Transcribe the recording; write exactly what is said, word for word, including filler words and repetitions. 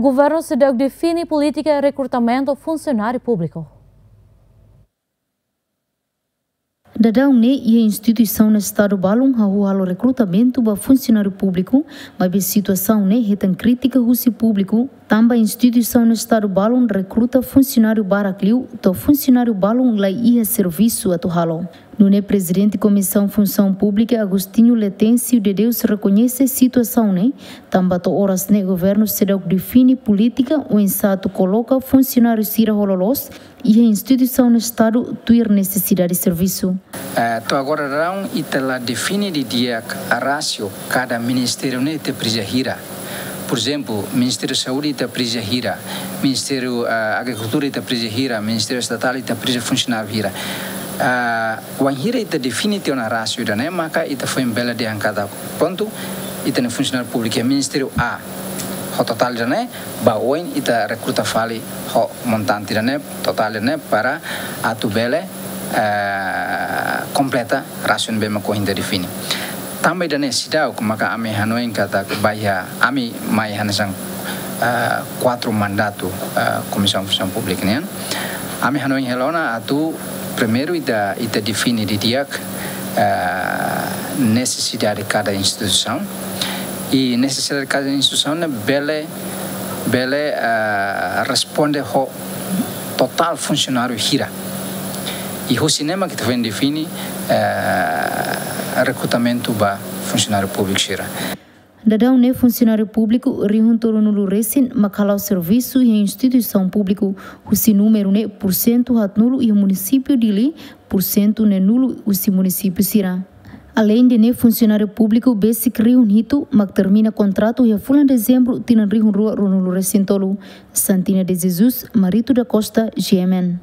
Governu seidauk define polítika rekrutamentu funsionáriu públiku. Daudaun ne'e iha instituisaun Estadu balun hahú halo rekrutamentu ba funsionáriu públiku, maibé situasaun ne'e hetan krítika husi públiku, tanba instituisaun Estadu balun rekruta funsionáriu barak liu, to'o funsionáriu balun la iha servisu atu halo. Nune'e Prezidente Komisaun Funsaun Públika Agostinho Letêncio de Deus rekoñese situasaun ne'e, tanba to'o oras ne'e governu seidauk define polítika oinsá atu koloka funsionáriu sira ho loloos iha instituisaun Estadu tuir nesesidade servisu. Eh, to'o agora daudaun ita la define didi'ak rasio kada ministériu ne'e ita presiza hira. Por ezemplu, Ministériu Saúde ita presiza hira, Ministériu, eh, Agrikultura ita presiza hira, Ministériu Estatál ita presiza funsionáriu hira. Ah, wainhira ita define tiha ona rasio ida-ne'e, maka ita foin bele dehan katak, prontu, ita-nia funsionáriu públiku iha Ministériu A ho totál ida-ne'e, ba oin ita rekruta fali ho montante ida-ne'e, totál ida-ne'e, para atu bele, eh, kompleta rasio ne'ebé mak ohin ita define. Tanba ida-ne'e seidauk, maka ami hanoin katak ba iha, ami mai hanesan, eh, kuatru mandatu, eh, Komisaun Funsaun Públika nian. Ami hanoin hela ona atu primeiru ita, ita define didi'ak, eh, nesesidade kada instituisaun. I nesesidade kada instituisaun ne'e bele, bele, eh, responde ho totál funsionáriu hira. I husi ne'e mak ita foin define, eh, rekrutamentu ba funsionáriu públiku sira. Daudaun ne'e funsionáriu públiku rihun tolunulu resin mak hala'o servisu iha instituisaun públiku, husi númeru ne'e pursentu haatnulu iha munisípiu Dili, pursentu neenulu husi munisípiu sira. Aleinde ne'e funsionáriu públiku besik rihun hitu mak termina kontratu iha fulan Dezembru tinan rihun rua ruanulu resin tolu. Santina de Jesus, Marito da Costa, G M N.